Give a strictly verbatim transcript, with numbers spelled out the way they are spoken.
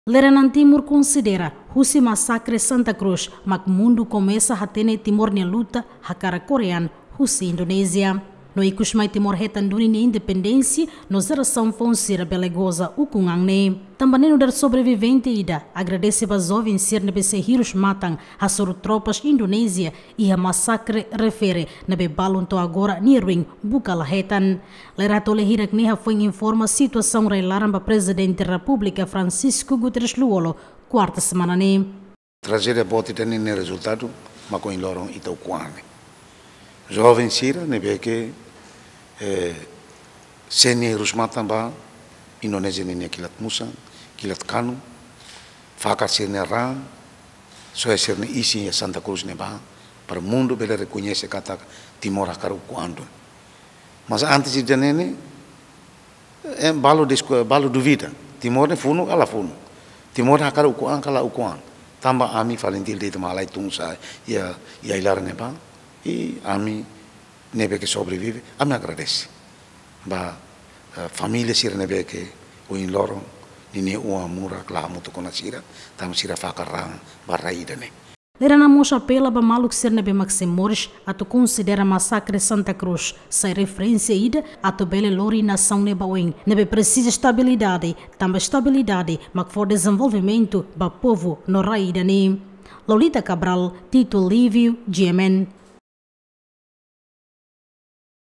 Lideransa Timor konsidera husi masakre Santa Cruz mak mundu komesa hatene Timor nia luta hakarak korean husi Indonézia. No ikus mai Timor hetan duni nia independénsia no jerasaun foun sira bele goza ukun-an ne'e. Tanba ne'e nu'udar sobrevivente ida agradese ba joven sira ne'ebé sei hirus matan hasoru tropas Indonézia iha masakre refere ne'ebé balun to'o agora nia ruin buka la hetan. Lideransa hirak-ne'e hafoin informa situasaun rai-laran ba Prezidente Repúblika Francisco Guterres Lú-Olo, kuarta semana ne'e. Trajédia boot ida-ne'e nia rezultadu mak ohin loron ita ukun-an ne'e. Joven sira ne'ebé ke, eh, sira-nia hirus matan ba Indonézia ninia kilat musan, kilat kanu, fakar sira-nia raan, soe sira-nia isin iha Santa Cruz ne'e ba, para mundu bele rekoñese katak Timor hakarak ukun-an duni. Mas antes ida-ne'e ne'e, eh, balu disku-, balu duvida. Timor ne'e funu ka la funu. Timor ne'e hakarak ukun-an ka la ukun-an. Tanba ami FALINTIL de'it mak halai tun sa'e iha, iha ai-laran ne'ebá. I ami ne'ebé ke sobrevive, ami agradese ba, eh, família sira ne'ebé ke ohin loron ninia oan murak la hamutuk ona sira, tanba sira fakar raan ba rai ida-ne'e. Lideransa mós apela ba maluk sira ne'ebé mak sei moris atu konsidera masakre Santa Cruz sai referénsia ida atu bele lori nasaun ne'e ba oin, ne'ebé presiza estabilidade, tanba estabilidade mak fó dezenvolvimentu ba povu no rai ida-ne'e. Lolita Cabral, Tito Lívio, G M N.